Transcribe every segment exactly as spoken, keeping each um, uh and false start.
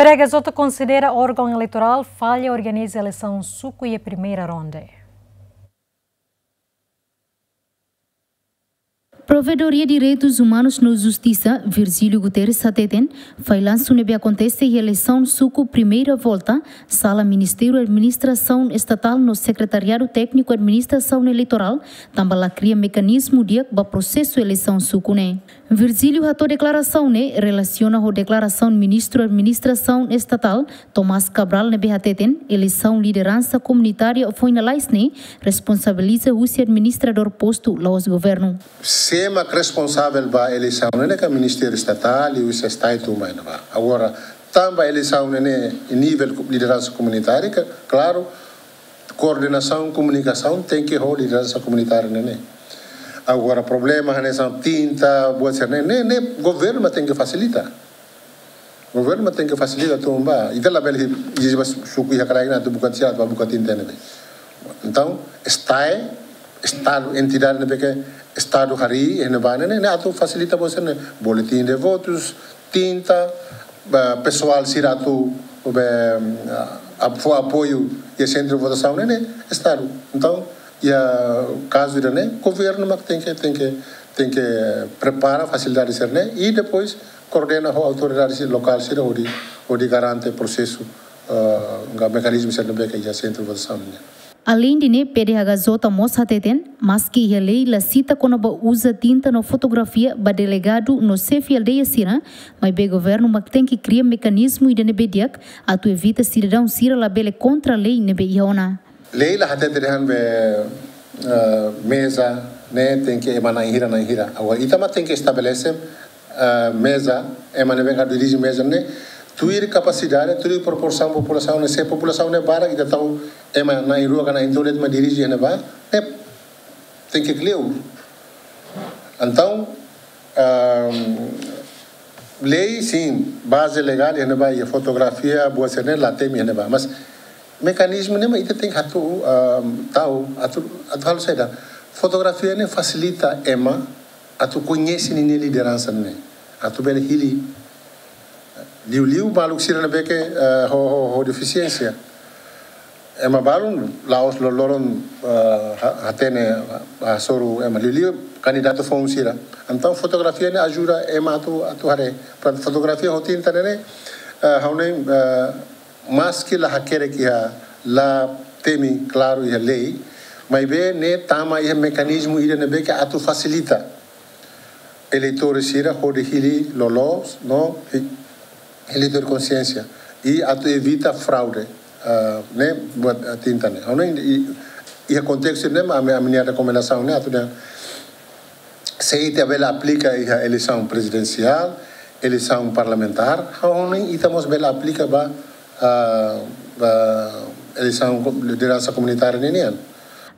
P D H J konsidera órgaun eleitorál falla organiza eleisaun suku iha primeira ronda. Provedoria Direitus Umanus no Justisa, Virgílio Guterres hateten, fallansu ne'ebé akontese iha eleisaun suku primeira volta, sala Ministériu Administrasaun Estatál no Sekretariadu Tékniku Administrasaun Eleitorál, tanba la kria mekanizmu di'ak ba prosesu eleisaun suku ne'e. Virgílio hato'o deklarasaun ne'e relasiona ho deklarasaun Ministru Administrasaun Estatál, Tomás Cabral, ne'ebé hateten, eleisaun lideransa komunitária foin lalais ne'e responsabiliza husi administradór postu, la'ós governu. Sé mak responsavel ba eleisaun ne'e ka Ministériu Estatál, husi STAE tun mai ne'ebá. Agora, tanba eleisaun ne'e nivel lideransa komunitária, ka, klaru, koordenasaun, komunikasaun tenke ho lideransa komunitária ne'e. Agora, problema hanesan tinta, buat sira ne'e, ne'e, ne'e governu mak tenke fasilita. Governu mak tenke fasilita tanba ita labele ezije ba suku iha kraik ne'e atu buka sira, atu buka tinta ne'e. Entaun, STAE, Estadu, entidade ne'ebé ke Estadu harii, iha ne'ebá ne'e, ne'e atu fasilita buat sira ne'e, boletin de votus, tinta, ba, pesoál sira atu, be, a, fó apoiu iha sentru votasaun ne'e, ne'e Estadu. Entaun, iha kazu ida-ne'e, governu mak tenke, tenke, tenke prepara fasilidade sira-ne'e, i depois koordena ho autoridade sira lokál sira hodi, hodi garante prosesu, ah, ka mekanizmu sira ne'ebé ke iha sentru votasaun ne'e. Aleinde ne'e, P D H J mós hateten, maski iha lei la sita kona-ba uza tinta no fotografia ba delegadu no xefe aldeia sira, maibé governu mak tenke kria mekanizmu ida ne'ebé di'ak, atu evita sidadaun sira labele kontra lei ne'ebé iha ona. Lei la hatete dehan be, eh, meza ne'e tenke ema na'in hira, na'in hira. Agora, ita mak tenke estabelese, eh, meza, ema ne'ebé ka dirije meza ne'e, tuir kapasidade, tuir proporsaun populasaun ne'e, se populasaun ne'e barak, ita tau ema na'in rua ka na'in tolu de'it mak dirije ne'ebá, ne'e tenke kleur. Entaun, ehm, lei, sin, baze legál iha ne'ebá, iha fotografia, buat sira-ne'e la temi iha ne'ebá. Mas mekanizmu ne'e mak ita tenke atu, ehm, tau, atu, atu halo saida. Fotografia ne'e fasilita ema atu koñese ninia lideransa ne'e. Atu bele hili. Liuliu maluk sira ne'ebé ke, eh, ho, ho, ho defisiénsia. Ema balun la'ós loroloron, eh, ha-, hatene, ah, hasoru ema, liuliu kandidatu foun sira. Entaun fotografia ne'e ajuda ema atu, atu haree. Portantu fotografia ho tinta ne'e, eh, ha'u hanoin, eh, maski la hakerek iha, la temi klaru iha lei, maibé ne'e tama iha mekanizmu ida ne'ebé ke atu fasilita eleitór sira hodi hili loloos no hi-, hili tuir konxiénsia i atu evita fraude, ah, ne'e buat, ah, tinta ne'e. Ha'u hanoin i, iha kontestu ne'e mak ami, ami-nia rekomendasaun ne'e atu dehan se ita bele aplika iha eleisaun prezidensiál, eleisaun parlamentár, ha'u hanoin ita mós bele aplika ba, ah, ba eleisaun ko-, lideransa komunitária ninian.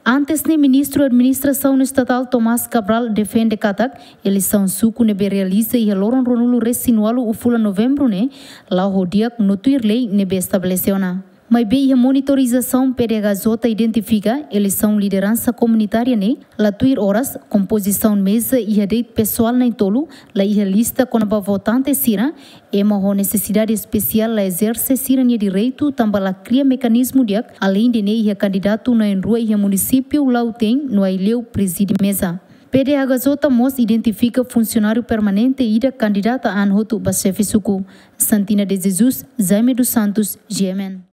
Antes ne'e, Ministru Administrasaun Estatál Tomás Cabral defende katak eleisaun suku ne'ebé realiza iha loron ruanulu-resin-ualu fulan Novembru ne'e la'o ho di'ak no tuir lei ne'ebé estabelese ona. Maibé iha monitorizasaun, P D H J identifika eleisaun lideransa komunitária ne'e la tuir oras, kompozisaun meza iha de'it pesoál na'in-tolu, la iha lista kona-ba votante sira, ema ho nesesidade espesiál la ezerse sira-nia direitu tanba la kria mekanizmu di'ak, aleinde ne'e iha kandidatu na'in-rua iha munisípiu Lautém no Aileu prezide meza. P D H J mós identifika funsionáriu permanente ida kandidata an hotu ba xefe suku. Santina de Jesus, Jaime dos Santos, G M N.